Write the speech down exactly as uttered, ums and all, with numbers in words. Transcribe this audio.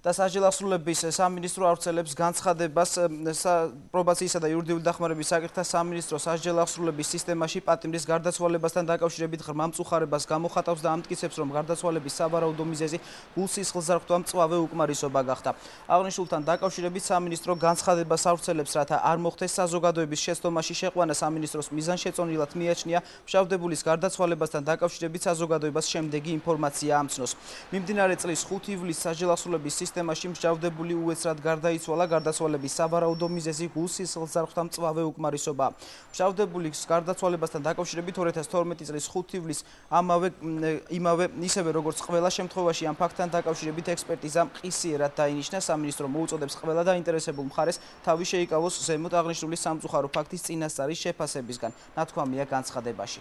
და სასჯელ აღსრულების სამინისტრო ავრცელებს განცხადებას პრობაციისა და იურიდიული დახმარების საკითხთა სამინისტრო სასჯელ აღსრულების სისტემაში პატიმრის გარდაცვალებასთან დაკავშირებით ღრმა მწუხარებას გამოხატავს და ამტკიცებს, რომ გარდაცვალების სავარაუდო მიზეზი გულსისხლძარღვთა მწვავე უკმარისობა გახდა. აღნიშნულთან დაკავშირებით სამინისტრო განცხადებას ავრცელებს, რათა არ მოხდეს საზოგადოების შეცდომაში შეყვანა. სამინისტროს მიზანშეწონილად მიაჩნია მშავდებულის გარდაცვალებასთან დაკავშირებით საზოგადოებას შემდეგი ინფორმაცია ამცნოს. მიმდინარე წლის ხუთი ივლისს სასჯელ აღსრულების სისტემაში მშავდებული უეცრად გარდაიცვალა. გარდაცვალების სავარაუდო მიზეზი გულსისხლძარღვთა მწვავე უკმარისობაა. მშავდებულის გარდაცვალებასთან დაკავშირებით ორი ათას თორმეტი წლის ხუთი ივლისს ამავე იმავე ისევე როგორც ყველა შემთხვევაში ამ ფაქტთან დაკავშირებით ექსპერტიზა მყისიერად დაინიშნა. სამინისტრო მოუწოდებს ყველა დაინტერესებულ მხარეს თავი შეიკავოს ზემოთ აღნიშნული სამწუხარო ფაქტის წინასწარი შეფასებისგან. ნათქვამია განცხადებაში.